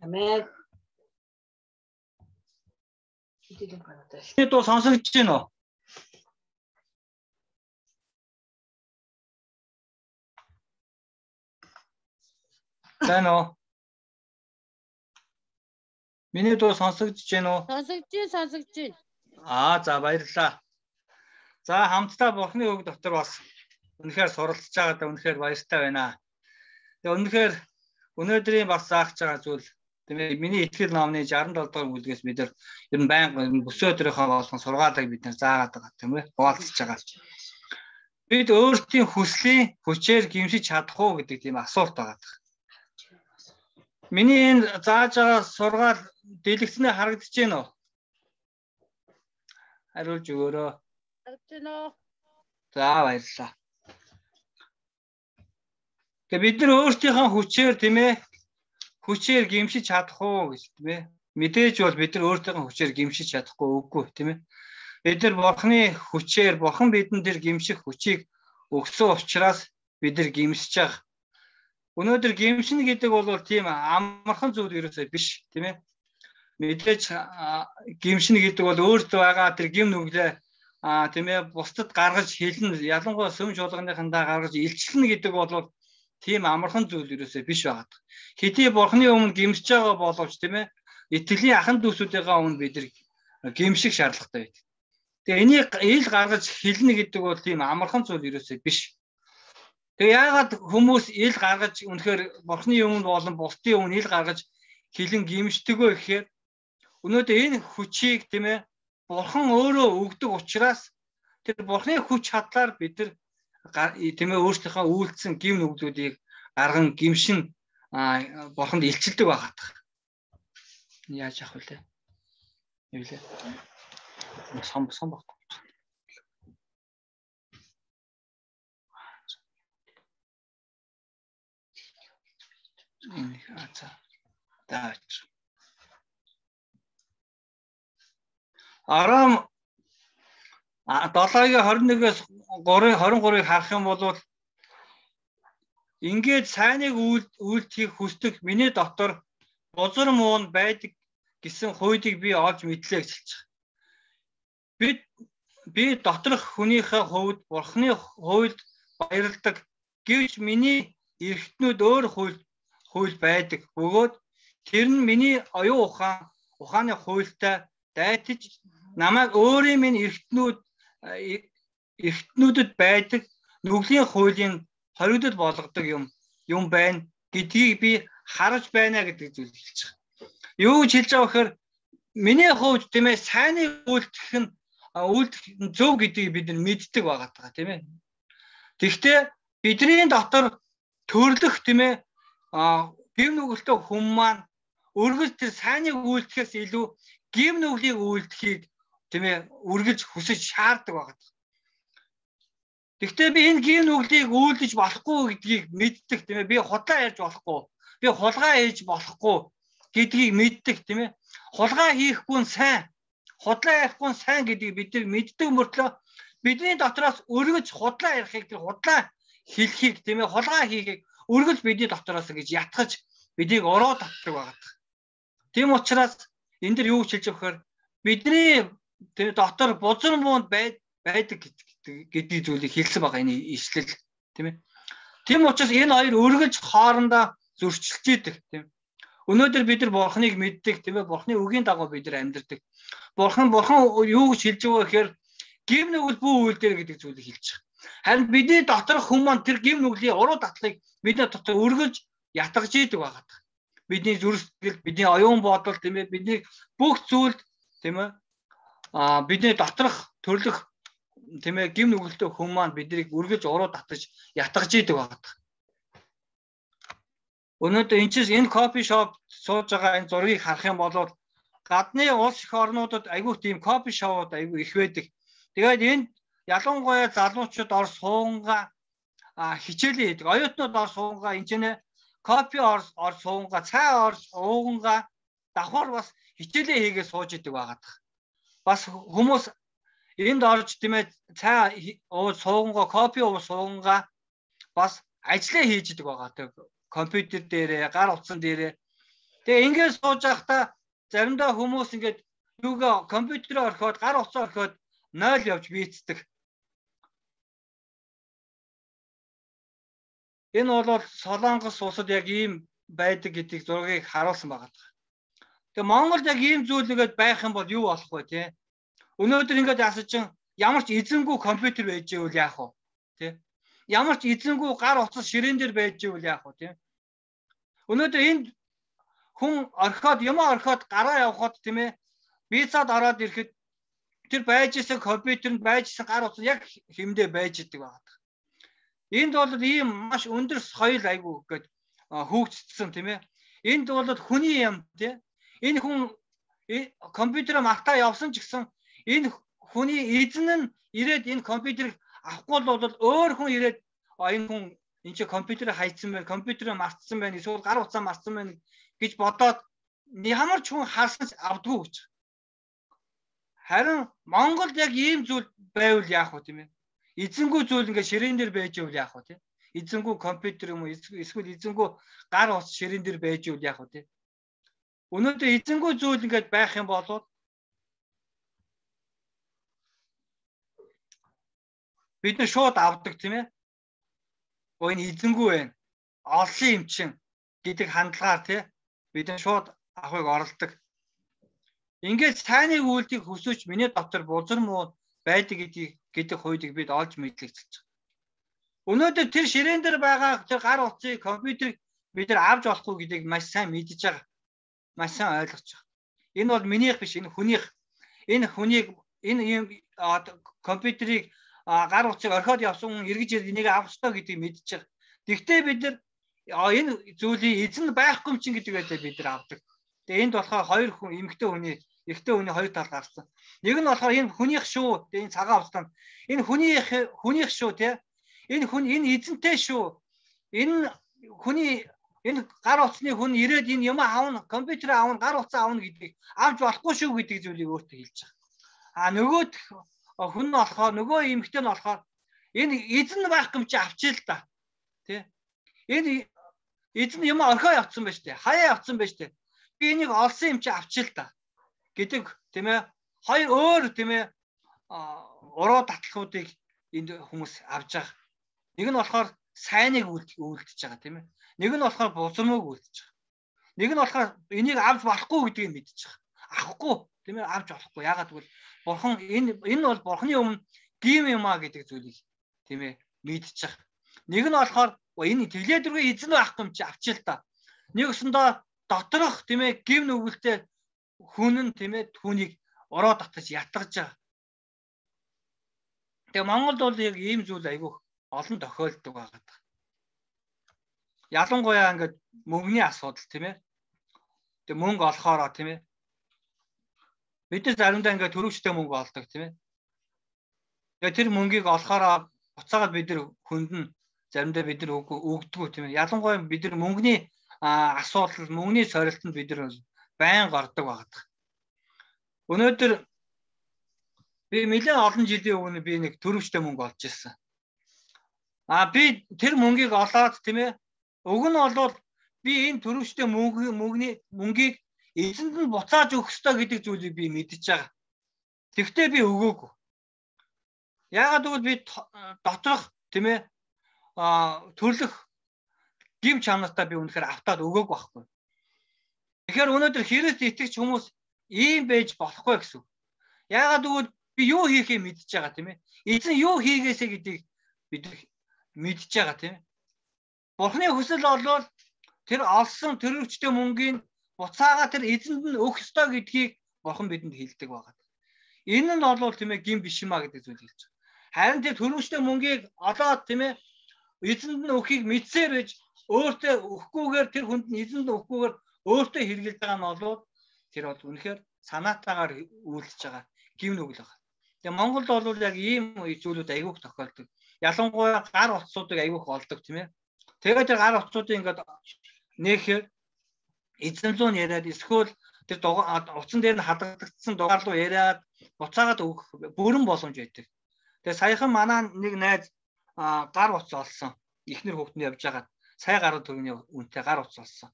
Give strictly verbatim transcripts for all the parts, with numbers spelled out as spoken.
Амен. Энд дуу сонсогдож байна уу? Байна уу? Миний дуу сонсогдож байна уу? Сонсогдож байна, сонсогдож байна. Аа, за баярлалаа. За хамтдаа Бурхны үг дотор бас үнэхээр суралцж байгаадаа үнэхээр баяртай байна. Тэгээ үнэхээр өнөөдрийн бас заах байгаа зүйл тийм ээ миний итгэл номны шестдесет и долоо дугаар бүлгээс бид нар ер нь байнга бүс өдрийнхөө болгон сургаалыг бид нар заагаад байгаа тийм ээ хуваалцж байгаа. Бид өөрсдийн хүслийн хүчээр гимшиж чадах уу гэдэг тийм асуулт байгаа. Миний энэ зааж байгаа сургаал дэлгэцнээ харагдаж байна уу? Хариулж өгөөрэй. Харагдаж байна уу? За баярлалаа. Тэгээ бид нар өөрсдийнхөө хүчээр тийм ээ хүчээр гимшиж чадах уу гэж тийм ээ. Мэдээж бол бид нар өөрсдийнхөө хүчээр гимшиж чадахгүй үгүй тийм ээ. Бид нар Бурхны хүчээр Бурхан бидэнд тэр гимших хүчийг өгсөн учраас бид нар гимшиж байгаа. Өнөөдөр гимшин гэдэг бол тийм амархан зүйл ерөөсөө биш тийм ээ. Мэдээж гимшин гэдэг бол өөртөө байгаа тэр гим нүглээ а тийм ээ бусдад гаргаж хэлнэ ялангуяа сүм чуулганыхандаа гаргаж илчлэнэ гэдэг бол тийм амархан зүйл ерөөсөө биш байгаа. Хэдий Бурхны өмнө гимсэж байгаа боловч тийм ээ итгэлийн ахан дүүсүүдийнхээ өмнө бид нар гимших шаардлагатай байдаг. Тэгээ энийг ил гаргаж хэлнэ гэдэг бол тийм амархан зүйл ерөөсөө биш. Тэгээ яагаад хүмүүс ил гаргаж үнэхээр Бурхны өмнө болон бусдын өмнө ил гаргаж хэлэн гимшдэгөө гэхээр өнөөдөр энэ хүчийг тийм ээ Бурхан өөрөө өгдөг учраас тэр Бурхны хүч чадлаар бид нар тийм ээ өөрсдийнхөө үйлдэлсэн гим нүглүүдийг гарган гимшин Бурханд илчилдэг байгаад. Яаж явах вэ? Юу лээ? Сом сом баг. Энэ хааца. Даач. Арам долоогийн двадцать нэгээс двадцать гурыг харах юм бол ингээд сайныг үйлдэхийг хүсдэг миний дотор бузар муун байдаг гэсэн хууийг би олж мэдлээ гэж хэлж байгаа. Бид би доторх хүнийхээ хувьд Бурхны хуульд баярладаг гэвч миний эрхтнүүд өөр хууль хууль байдаг. Бөгөөд тэр нь миний оюун ухаан ухааны хуультай дайтаж намайг өөрийн минь эрхтнүүд эрхтнүүдэд байдаг нүглийн хуулийн хоригдол болгодог юм юм байна гэдгийг би харж байна гэдэг зүйл хэлж байгаа. Юу гэж хэлж байгаа вэхээр миний хувьд тийм ээ сайныг үйлдэх нь үйлдэх зөв гэдгийг бид нар мэддэг байгаа даа тийм ээ. Тэгэхдээ бидний дотор төрлөх тийм ээ гим нүгэлтэй хүн маань өргөж тэр сайныг үйлдэхээс илүү гим нүглийг үйлдэхийг тийм ээ үргэлж хүсэж шаарддаг байгаа. Гэхдээ би энэ гим нүглийг үйлдэж болохгүй гэдгийг мэддэг тийм ээ. Би худлаа ярьж болохгүй. Би хулгай хийж болохгүй гэдгийг мэддэг тийм ээ. Хулгай хийхгүй нь сайн. Худлаа ярихгүй нь сайн гэдгийг бид нар мэддэг мөртлөө бидний дотроос өргөж худлаа ярихыг тэр худлаа хэлхийг тийм ээ хулгай хийхийг өргөж бидний дотроос гэж ятгаж бидийг ороо татдаг байгаа. Тийм учраас энэ дэр юу хэлж өгөхөр бидний тэр дотор бузар муунд байдаг гэдэг зүйлийг хэлсэн байгаа энэ ишлэл тийм ээ. Тийм учраас энэ хоёр өргөж хоорондоо зөрчилж идэг тийм. Өнөөдөр бид нар Бурхныг мэддэг тийм ээ. Бурхны үгийн дагуу бид нар амьдардаг. Бурхан Бурхан юу гэж хэлж байгаа гэхээр гим нүгэл бүү үйл дээр гэдэг зүйлийг хэлж байгаа. Харин бидний доторх хүмүүс маань тэр гим нүглийн уруу татлыг бидний дотор өргөж ятгаж идэг байгаа. Бидний зүрхсэтгэл, бидний оюун бодол тийм ээ. Бидний бүх зүйлд тийм ээ. А бидний доторх төрлөх тийм ээ гим нүгэлтэй хүмүүс маань биднийг өргөж уруу татаж ятгаж идэг байгаа. Өнөөдөр энэ чинь энэ кофе шоп сууж байгаа энэ зургийг харах юм бол гадны улс их орнуудад айгүй тийм кофе шоуд айгүй их байдаг. Тэгээд энд ялангуяа залуучууд ор суунгаа хичээлээ хийдэг. Оюутнууд ор суунгаа энэ чинь кофе ор ор суунгаа цай ор уугангаа давхар бас хичээлээ хийгээ сууж идэг байгаа. Бас хүмүүс энд орж тийм ээ цай ууж суугангаа кофе ууж суугангаа бас ажиллаа хийж идэг байгаа. Тэг компьютер дээрээ гар утсан дээрээ Тэгээ ингээд сууж байхдаа заримдаа хүмүүс ингээд юугаа компьютерээр орхиод гар утсаа орхиод нойл явж бийцдэг. Энэ бол Солонгос улсад яг ийм байдаг гэдгийг зургийг харуулсан байгаа. Тэгээ Монголд яг ийм зүйл нэгэд байх юм бол юу болох вэ те? Өнөөдөр ингээд асаж чин ямар ч эзэнгүй компьютер байж ивэл яах вэ? Тэ? Ямар ч эзэнгүй гар утас ширээн дээр байж ивэл яах вэ? Тэ? Өнөөдөр энд хүн орхиод юм орхиод гараа явхад тийм ээ визад ороод ирэхэд тэр байж исэн компьютерд байж исэн гар утас яг хэмдэ байж идэг байна. Энд бол ийм маш өндөр соёл айгу гээд хөгжсөн тийм ээ. Энд бол хүний юм тийм. Энэ хүн компьютераа мартаа явсан ч гэсэн энэ хүний эзэн нь ирээд энэ компьютерыг авахгүй бол өөр хүн ирээд энэ хүн энэ чи компьютерыг хайцсан байна, компьютерыг мартсан байна, эсвэл гар утсаа мартсан байна гэж бодоод ямар ч хүн харсан авдгүй гэж. Харин Монголд яг ийм зүйл байвал яах вэ тийм ээ? Эзэнгүй зүйл ингээ ширээн дээр байж ивэл яах вэ тийм? Эзэнгүй компьютер юм уу эсвэл эзэнгүй гар утас ширээн дээр байж ивэл яах вэ тийм? Өнөөдөр эзэнгүй зүйл ингээд байх юм бол бид нар шууд авдаг тийм ээ. Өө энэ эзэнгүй байна. Олсон юм чин гэдэг хандлагаар тийм бид нар шууд авахыг оролдог. Ингээд сайныг үйлдэх хүсвч миний дотор бузар муу байдаг гэдгийг гэдэг хуйдыг бид олж мэдлэгдэж байгаа. Өнөөдөр тэр ширээн дээр байгаа тэр гар утсыг компьютерийг бид нар авч болохгүй гэдгийг маш сайн мэдж байгаа. Маш сайн ойлгож байгаа. Энэ бол минийх биш, энэ хүнийх. Энэ хүнийг энэ юм компьютерийг гар утсыг орхиод явсан хүн эргэж энийг авах ёстой гэдгийг мэдж байгаа. Тэгвэл бид нар энэ зүйлийн эзэн байхгүй юм чинь гэдэг байдлаар бид нар авдаг. Тэгээ энд болохоор хоёр хүн эмэгтэй хүний, эрэгтэй хүний хоёр тал гарсан. Нэг нь болохоор энэ хүнийх шүү. Тэгээ энэ цагаан утсанд энэ хүнийх хүнийх шүү тий. Энэ хүн энэ эзэнтэй шүү. Энэ хүний энэ гар утасны хүн ирээд энэ юм аавна, компьютер аавна, гар утсаа аавна гэдгийг авч болохгүй шүү гэдэг зүйлийг өөртөө хэлж байгаа. А нөгөөд хүн нь болохоор нөгөө эмэгтэй нь болохоор энэ эзэн байх юм чи авчээ л да. Тэ? Энэ эзэн юм орхоо явцсан байж тээ. Хаяа явцсан байж тээ. Би энийг олсон юм чи авчээ л да. Гэдэг тийм ээ. Хоёр өөр тийм ээ уруу татлахуудыг энд хүмүүс авж байгаа. Нэг нь болохоор сайныг үйлдэж байгаа тийм ээ. Нэг нь болохоор бузармыг үйлдэж байгаа. Нэг нь болохоор энийг авч болохгүй гэдгийг мэдчихэж байгаа. Авахгүй тийм ээ авч болохгүй. Яагаад гэвэл бурхан энэ энэ бол бурханы өмнө гим юм а гэдэг зүйлийг тийм ээ мэдчихэж байгаа. Нэг нь болохоор энэ тэглээ дөрвөө эзэн байхгүй юм чи авчил та. Нэг өсөндөө доторх тийм ээ гим нүгэлтэй хүн нь тийм ээ түүнийг ороо татаж ятгаж байгаа. Тэгээ Монголд бол яг ийм зүйл айгүй олон тохиолддог байгаа. Ялангуяа ингээд мөнгөний асуудал тийм ээ. Тэгээ мөнгө олохоороо тийм ээ. Бид нар заримдаа ингээд төрөвчтэй мөнгө олдог тийм ээ. Тэгээ тэр мөнгийг олохоороо буцаагаад бид нар хүнд нь заримдаа бид нар өгдөггүй тийм ээ. Ялангуяа бид нар мөнгөний асуудал, мөнгөний сорилтонд бид нар байн гардаг байгаа. Өнөөдөр би нэлээд олон жилийн өмнө би нэг төрөвчтэй мөнгө олж ирсэн. А би тэр мөнгийг олоод тийм ээ. Уг нь бол би энэ төрөвчтэй мөнгө мөнгөний мөнгийг эзэнд нь буцааж өгөх ёстой гэдэг зүйлийг би мэдчихэж байгаа. Тэгвэл би өгөөгүй. Яагаад гэвэл би доторх тийм ээ а төрлөх гим чанартаа би үнэхээр автаад өгөөгүй байхгүй. Тэгэхээр өнөөдөр Христ итгэж хүмүүс ийм байж болохгүй гэсэн. Яагаад гэвэл би юу хийхээ мэдчихэж байгаа тийм ээ. Эзэн юу хийгээсэ гэдгийг бид мэдчихэж байгаа тийм ээ. Бурхны хүсэл бол тэр олсон төрөвчтэй мөнгийг буцаага тэр эзэнд нь өгөх ёстой гэдгийг бурхан бидэнд хэлдэг байгаа. Энэ нь бол тийм ээ гим биш юм а гэдэг зүйл хэлж байгаа. Харин тэр төрөвчтэй мөнгийг олоод тийм ээ эзэнд нь өгөхийг мэдсээр байж өөртөө өгөхгүйгээр тэр хүнд нь эзэнд нь өгөхгүйгээр өөртөө хэрглэж байгаа нь бол тэр бол үнэхээр санаатаагаар үйлдэж байгаа гим нүгэл байна. Тэгээ Монголд бол яг ийм зүйлүүд айгүйх тохиолдог. Ялангуяа гар утсуудыг айгүйх олдог тийм ээ. Тэгээд тэр гар утсуудыг ингээд нээхээр эзэмлүүн яриад эсвэл тэр утсан дээр нь хадагдагдсан дугаар руу яриад буцаагаад өгөх бүрэн боломж байдаг. Тэгээ саяхан манай нэг найз гар утас олсон. Эхнэр хүүхдэн явж байгаа. Сая гаруй төгрөгийн үнэтэй гар утас олсон.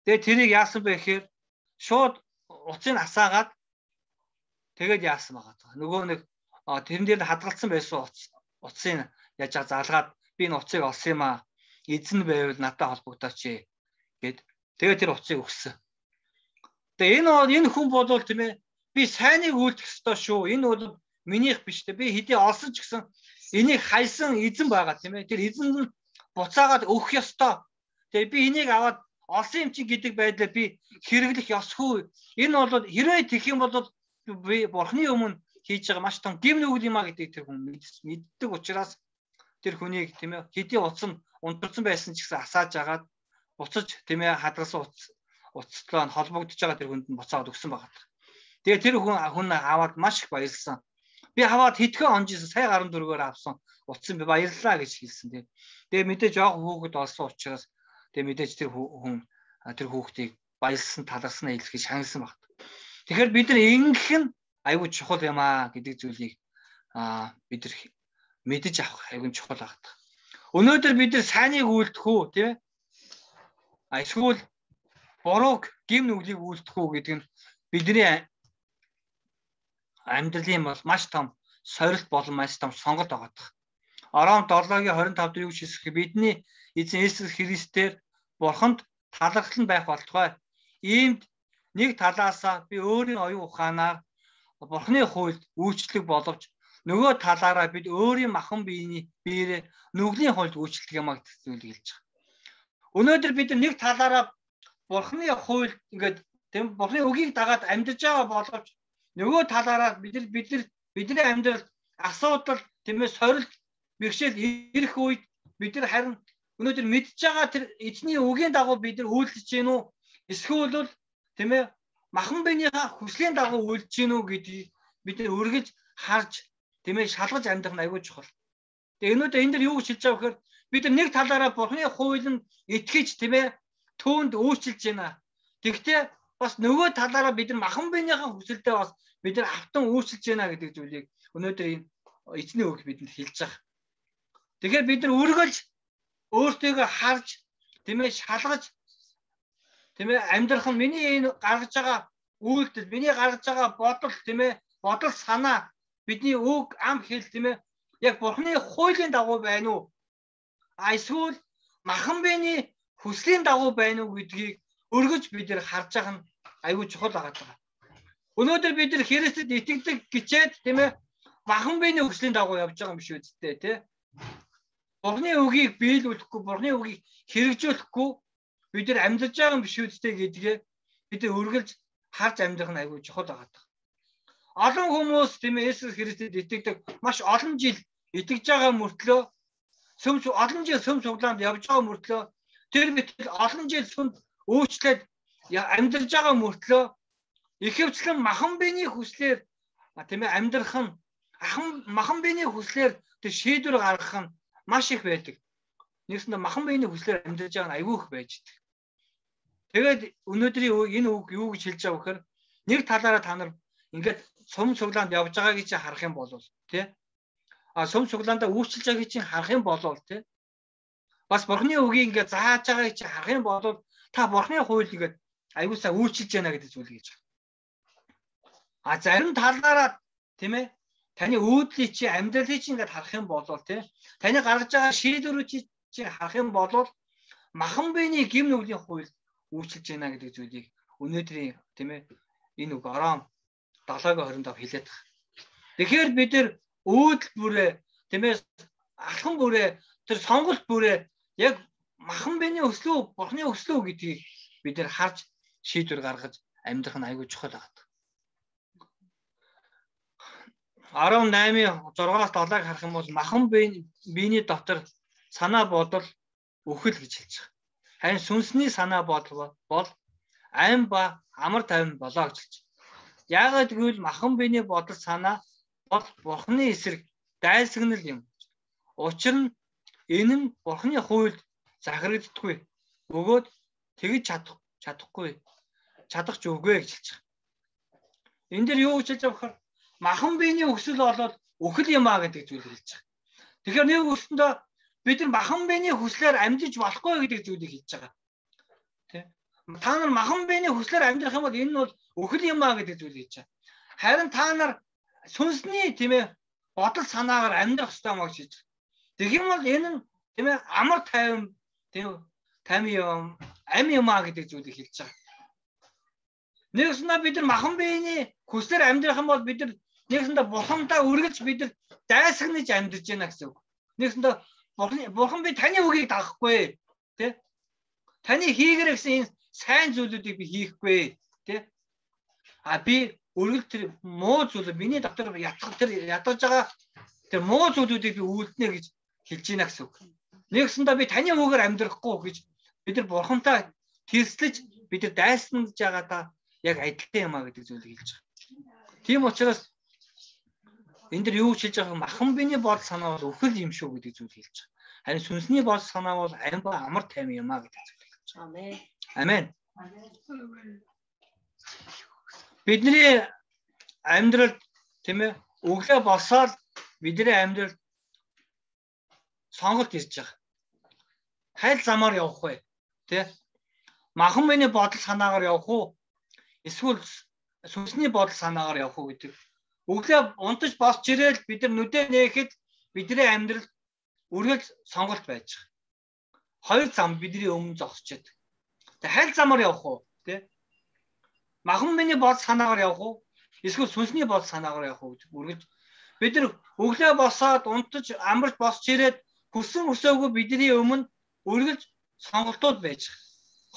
Тэгээ тэрийг яасан бэ гэхээр шууд уцыг асаагаад тэгээд яасан байгаа. Нөгөө нэг тэрэн дээр хадгалсан байсан уц уцыг яаж залгаад би энэ уцыг олсон юм аа. Эзэн байвал надад холбогдооч гэд. Тэгээд тэр уцыг өгсөн. Тэгээ энэ энэ хүн бодвол тийм ээ би сайныг үйлдэх ёстой шүү. Энэ бол минийх биш те. Би хэдий олсон ч гэсэн энийг хайсан эзэн байгаа тийм ээ. Тэр эзэн нь буцаагаад өгөх ёстой. Тэгээ би энийг аваад олсон юм чи гэдэг байдлаар би хэрэглэх ёсгүй. Энэ бол хэрвээ тэгэх юм бол би бурхны өмнө хийж байгаа маш том гим нүгэл юм а гэдэг тэр хүн мэддэг учраас тэр хүнийг тийм ээ хэдий уцсан унтарсан байсан ч гэсэн асааж агаад буцаж тийм ээ хадгалсан уц уцтлаа холбогдож байгаа тэр хүнд нь буцаад өгсөн байгаа. Тэгээ тэр хүн хүн аваад маш их баярлсан. Би аваад хэдхэн онжсэн сая гаруй дөрвөөр авсан уцсан би баярлалаа гэж хэлсэн тийм. Тэгээ мэдээж яг хүүхэд олсон учраас тэгээ мэдээж тэр хүн тэр хүүхдийг баярлсан таларснаа хэлэхэд шагнасан багт. Тэгэхээр бид нар ингэх нь аюул чухал юм аа гэдэг зүйлийг аа бид нар мэдэж авах аюул чухал багт. Өнөөдөр бид нар сайныг үйлдэх үү тийм ээ? А эсвэл бурууг гим нүглийг үйлдэх үү гэдэг нь бидний амьдралын бол маш том сорилт болон маш том сонголт байгаа. Ором долоогийн хорин тав дээр юу хэлэх вэ? Бидний эзэн Есүс Христээр бурханд талархал нь байх болтугай. Иймд нэг талаасаа би өөрийн оюун ухаанаар бурхны хуульд үйлчлэг боловч нөгөө талаараа бид өөрийн махан биений биеэр нүглийн хуульд үйлчлдэг юм а гэдэг зүйлийг хэлж байгаа. Өнөөдөр бид нэг талаараа бурхны хуульд ингээд тийм бурхны үгийг дагаад амьдарч байгаа боловч нөгөө талаараа бид нар бид нар бидний амьдрал асуудал тийм ээ сорилт бэрхшээл ирэх үед бид нар харин өнөөдөр мэдж байгаа тэр эзний үгийн дагуу бид нар үйлдэж гин үү эсвэл бол тийм ээ махан биенийхээ хүслийн дагуу үйлдэж гин үү гэдгийг бид нар үргэлж харж тийм ээ шалгаж амьдрах нь аягүй чухал. Тэгээ өнөөдөр энэ дэр юу гэж хэлж байгаа вэхээр бид нар нэг талаараа бурхны хуулинд итгэж тийм ээ түүнд үйлчилж байна. Тэгвэл бас нөгөө талаараа бид нар махан биенийхээ хүсэлдээ бас бид нар автан үйлчилж байна гэдэг зүйлийг өнөөдөр энэ эзний үг бидэнд хэлж байгаа. Тэгэхээр бид нар үргэлж өөртөө харж тийм ээ шалгаж тийм ээ амьдрах нь миний энэ гаргаж байгаа үйлдэл, миний гаргаж байгаа бодол тийм ээ бодол санаа бидний үг ам хэл тийм ээ яг бурхны хуулийн дагуу байна уу? А эсвэл махан биений хүслийн дагуу байна уу гэдгийг өргөж бид нар харж байгаа нь аюул чухал байгаа. Өнөөдөр бид нар Христэд итгэдэг гэчээд тийм ээ махан биений хүслийн дагуу явж байгаа юм биш үсттэй тий. Бурхны үгийг биелүүлэхгүй, бурхны үгийг хэрэгжүүлэхгүй бид нар амьдарч байгаа юм биш үсттэй гэдгээ бид нар өргөлж харж амьдрах нь аюул чухал байгаа. Олон хүмүүс тийм ээ Есүс Христэд итгэдэг маш олон жил итгэж байгаа мөртлөө сүм олон жил сүм суглаанд явж байгаа мөртлөө тэр мэтэл олон жил сүмд өөрчлөөд амьдарч байгаа мөртлөө ихэвчлэн махан биений хүслээр тийм ээ амьдрах нь ахан махан биений хүслээр тэр шийдвэр гаргах нь маш их байдаг. Нэгсэндээ махан биений хүслээр амьдарч байгаа нь аюул их байж байгаа. Тэгээд өнөөдрийн энэ үг юу гэж хэлж байгаа вэхээр нэг талаараа та нар ингээд сум суглаанд явж байгааг чи харах юм бол тий а сум суглаандаа үйлчилж байгааг чи харах юм бол тий бас бурхны үгийг ингээд зааж байгааг чи харах юм бол та бурхны хууль ингээд аюусаа үйлчилж байна гэдэг зүйлийг хэлж байгаа. А зарим талаараа тийм ээ таны өөдлийг чи амьдралыг чи ингээд харах юм бол тий таны гаргаж байгаа шийдвэрүүд чи харах юм бол махан биений гим нүглийн хууль үйлчилж байна гэдэг зүйлийг өнөөдрийн тийм ээ энэ үг ором долоогийн хорин тав хэлээд байгаа. Тэгэхээр бид нар өөдөл бүрээ тийм ээ алхан бүрээ тэр сонголт бүрээ яг махан биений өслөө бурхны өслөө гэдгийг бид нар харж шийдвэр гаргаж амьдрах нь аюул чухал байгаа. арван наймын зургаас долоог харах юм бол махан биений дотор санаа бодол өхөл гэж хэлж байгаа. Харин сүнсний санаа бодол бол айн ба амар тайван болоо гэж хэлж байгаа. Яагаад гэвэл махан биений бодол санаа бол бурхны эсрэг дайсагнал юм. Учир нь энэ нь бурхны хуульд захирагддаггүй. Бөгөөд тэгж чадах чадахгүй чадах ч үгүй гэж хэлж байгаа. Энэ дэр юу гэж хэлж байгаа вэ? Махан биений өсөл болоод өхөл юм а гэдэг зүйлийг хэлж байгаа. Тэгэхээр нэг үстэндээ бид нар махан биений хүслээр амьдж болохгүй гэдэг зүйлийг хэлж байгаа. Тэ? Та нар махан биений хүслээр амьдрах юм бол энэ нь бол өхөл юм аа гэдэг зүйл хийж байгаа. Харин та нар сүнсний тийм ээ бодол санаагаар амьдрах ёстой маа гэж хэлж байгаа. Тэгэх юм бол энэ нь тийм ээ амар тайван тийм тайван юм ам юм аа гэдэг зүйлийг хэлж байгаа. Нэгснэ бид нар махан биений хүслээр амьдрах юм бол бид нар нэгсэндээ бурхандаа үргэлж бид нар дайсагнаж амьдарч байна гэсэн үг. Нэгсэндээ бурхан би таны үгийг дагахгүй тий. Таны хийгэрэй гэсэн энэ сайн зүйлүүдийг би хийхгүй тий. А би үргэлж тэр муу зүйл миний дотор ятгах тэр ядаж байгаа тэр муу зүйлүүдийг би үлднэ гэж хэлж байна гэсэн үг. Нэгсэндээ би таны үгээр амьдрахгүй гэж бид нар бурхантай тэрслэж бид нар дайснаж байгаадаа яг адилхан юм а гэдэг зүйлийг хэлж байгаа. Тийм учраас энэ дэр юу хэлж байгаа махан биений бодол санаа бол өхөл юм шүү гэдэг зүйл хэлж байгаа. Харин сүнсний бодол санаа бол ам ба амар тайван юм а гэдэг зүйл хэлж байгаа. Амен. Бидний амьдрал тийм ээ өглөө босоод бидний амьдрал сонголт ирж байгаа. Хайл замаар явах вэ? Тэ? Махан биений бодол санаагаар явах уу? Эсвэл сүнсний бодол санаагаар явах уу гэдэг. Өглөө унтаж босч ирээл бид нар нүдэ нээхэд бидний амьдрал үргэлж сонголт байж байгаа. Хоёр зам бидний өмнө зогсож байдаг. Тэг хайл замаар явах уу? Тэ? Махан биений бодол санаагаар явах уу? Эсвэл сүнсний бодол санаагаар явах уу гэдэг. Үргэлж бид нар өглөө босоод унтаж амарч босч ирээд хүссэн өсөөгөө бидний өмнө үргэлж сонголтууд байж байгаа.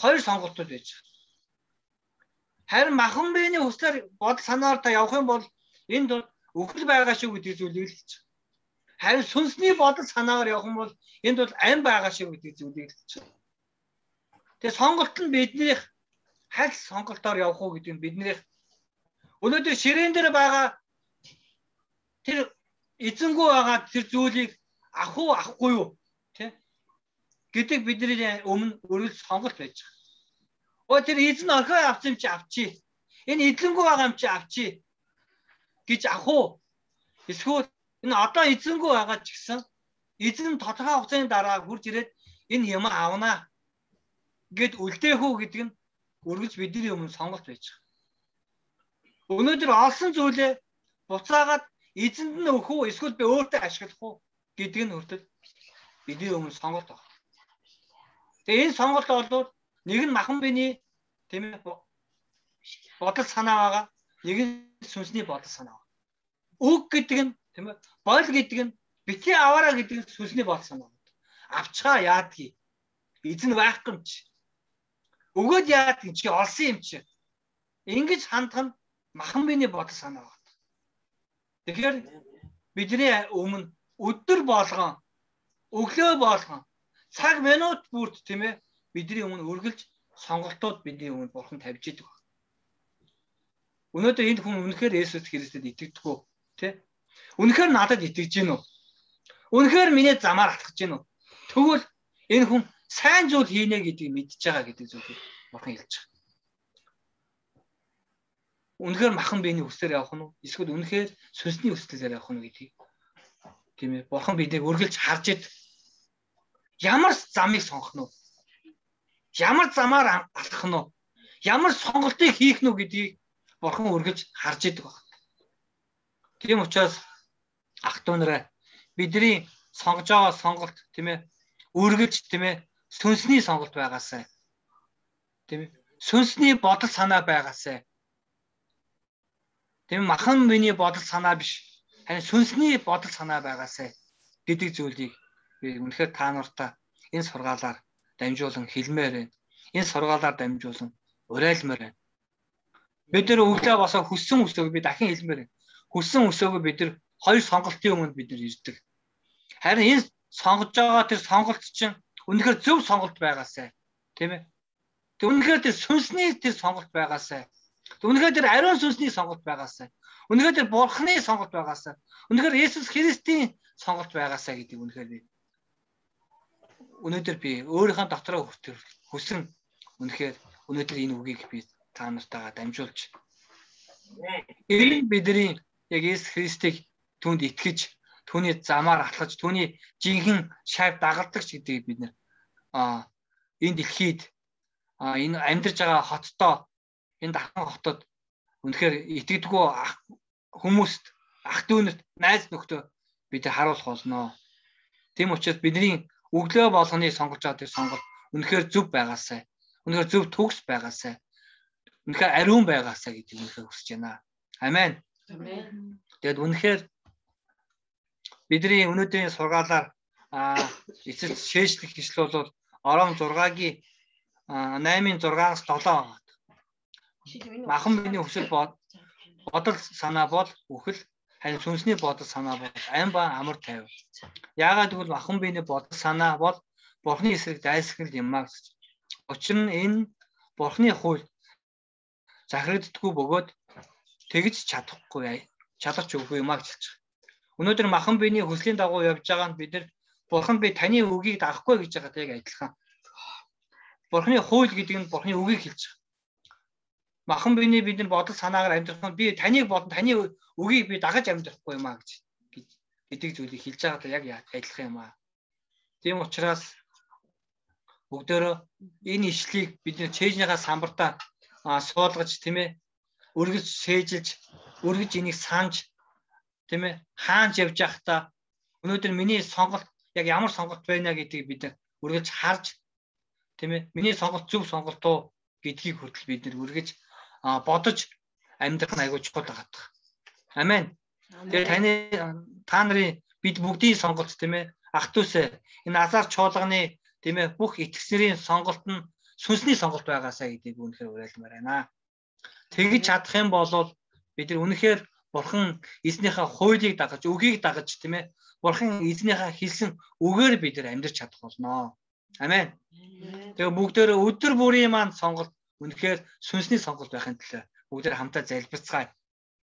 Хоёр сонголтууд байж байгаа. Харин махан биений хүслээр бодол санаагаар та явах юм бол энд бол өхөл байгаа шүү гэдэг зүйлийг хэлж байгаа. Харин сүнсний бодол санаагаар явах юм бол энд бол ам байгаа шүү гэдэг зүйлийг хэлж байгаа. Тэгээ сонголт нь бидний хайл сонголтоор явах уу гэдэг нь бидний өнөөдөр ширээн дээр байгаа тэр эзэнгүү байгаа тэр зүйлийг ах уу ахгүй юу тий гэдэг бидний өмнө өргөл сонголт байж байгаа. Оо тэр эзэн орхио авсан юм чи авчи. Энэ эзэнгүү байгаа юм чи авчи гэж ах уу? Эсвэл энэ одоо эзэнгүү байгаа ч гэсэн эзэн тодорхой хугацааны дараа хурж ирээд энэ юм авнаа гэд үлдээх үү гэдэг нь өргөж бидний өмнө сонголт байж байгаа. Өнөөдөр олсон зүйлээ буцаагаад эзэнд нь өгөх үү эсвэл би өөртөө ашиглах уу гэдэг нь хүртэл бидний өмнө сонголт байна. Тэгээ энэ сонголт бол нэг нь махан биений тийм ээ бодол санаа байгаа, нэг нь сүнсний бодол санаа байгаа. Үг гэдэг нь тийм ээ бол гэдэг нь битгий аваараа гэдэг нь сүнсний бодол санаа байна. Авчгаа яадгийг эзэн байхгүй юм чи. Өгөөд яадгийг чи олсон юм чи. Ингэж хандах нь махан биений бодол санаа байна. Тэгэхээр бидний өмнө өдөр болгон өглөө болгон цаг минут бүрт тийм ээ бидний өмнө үргэлж сонголтууд бидний өмнө бурхан тавьж идэг байна. Өнөөдөр энэ хүн үнэхээр Есүс Христэд итгэдэггүй тий? Үнэхээр надад итгэж гин үү? Үнэхээр миний замаар алхаж гин үү? Тэгвэл энэ хүн сайн зүйл хийнэ гэдгийг мэдж байгаа гэдэг зүйлийг бурхан хэлж байгаа. Үнэхээр махан биений хүслээр явах нь уу? Эсвэл үнэхээр сүнсний хүслээр явах нь гэдгийг тийм ээ бурхан биднийг үргэлж харж идэг. Ямар замыг сонгох нь вэ? Ямар замаар алхах нь вэ? Ямар сонголтыг хийх нь вэ гэдгийг бурхан үргэлж харж идэг байна. Тийм учраас ах дүү нараа бидний сонгож байгаа сонголт тийм ээ үргэлж тийм ээ сүнсний сонголт байгаасай. Тийм ээ сүнсний бодол санаа байгаасай. Тийм махан биений бодол санаа биш. Харин сүнсний бодол санаа байгаасай гэдэг зүйлийг би үнэхээр та нартай энэ сургаалаар дамжуулан хэлмээр байна. Энэ сургаалаар дамжуулан уриалмаар байна. Бид нар өглөө босоо хүссэн өсөөгөө би дахин хэлмээр байна. Хүссэн өсөөгөө бид нар хоёр сонголтын өмнө бид нар ирдэг. Харин энэ сонгож байгаа тэр сонголт чинь үнэхээр зөв сонголт байгаасай. Тийм ээ. Тэг үнэхээр тэр сүнсний тэр сонголт байгаасай. Үнэхээр тэр ариун сүнсний сонголт байгаасай. Үнэхээр тэр бурхны сонголт байгаасай. Үнэхээр Есүс Христийн сонголт байгаасай гэдэг үнэхээр би өнөөдөр би өөрийнхөө дотроо хүсэн үнэхээр өнөөдөр энэ үгийг би та нартайгаа дамжуулж энэ бидний яг Есүс Христийг түүнд итгэж түүний замаар алхаж түүний жинхэнэ шав дагалдагч гэдгийг бид нэр а энэ дэлхийд а энэ амьдарч байгаа хоттой энэ дахин хотод үнэхээр итгэдэггүй хүмүүст ах дүүнэрт найз нөхдөд бид харуулах болно. Тийм учраас бидний өглөө болгоны сонгож байгаа тэр сонголт үнэхээр зөв байгаасай. Үнэхээр зөв төгс байгаасай. Үнэхээр ариун байгаасай гэдэг үнэхээр хүсэж байна. Амен. Амен. Тэгэд үнэхээр бидний өнөөдрийн сургаалаар а эцэст шээжлэх хэсэл бол Ором зургагийн наймын зургаас долоо байгаа. Махан биений хүсэл бодол санаа бол үхэл, харин сүнсний бодол санаа бол ам ба амар тайв. Яагаад гэвэл махан биений бодол санаа бол Бурхны эсрэг дайсагнал юм аа гэж. Учир нь энэ Бурхны хууль захирагддаггүй бөгөөд тэгж чадахгүй чадах үгүй юм аа гэж хэлж байгаа. Өнөөдөр махан биений хүслийн дагуу явж байгаа нь бид нар Бурхан би таны үгийг дагахгүй гэж байгаа яг адилхан. Бурхны хууль гэдэг нь Бурхны үгийг хэлж байгаа. Махан биений бидний бодол санаагаар амьдрах нь би таныг бодон таны үгийг би дагаж амьдрахгүй юм аа гэж гэдэг зүйлийг хэлж байгаа яг адилхан юм аа. Тийм учраас бүгдөө энэ ишлийг бид нэ чэйжнийхаа самбартаа суулгаж тийм ээ өргөж сээжилж өргөж энийг санаж тийм ээ хаанч явж байхдаа өнөөдөр миний сонголт яг ямар сонголт байна гэдгийг бид өргөж харж тийм ээ миний сонголт зөв сонголт уу гэдгийг хүртэл бид нэр өргөж бодож амьдрах нь айгүй чухал байгаа. Амен. Тэгээ таны та нарын бид бүгдийн сонголт тийм ээ ах дүүсээ энэ азар чуулганы тийм ээ бүх итгэгчнэрийн сонголт нь сүнсний сонголт байгаасаа гэдгийг үнэхээр уриалмаар байна. Тэгж чадах юм бол бид нар үнэхээр Бурхан эзнийхээ хуулийг дагаж, үгийг дагаж тийм ээ Бурхан эзнийхээ хэлсэн үгээр бид нар амьдрч чадах болно. Амен. Тэгээ бүгдөө өдөр бүрийн маань сонголт үнэхээр сүнсний сонголт байхын төлөө бүгдээ хамтаа залбирцгаая.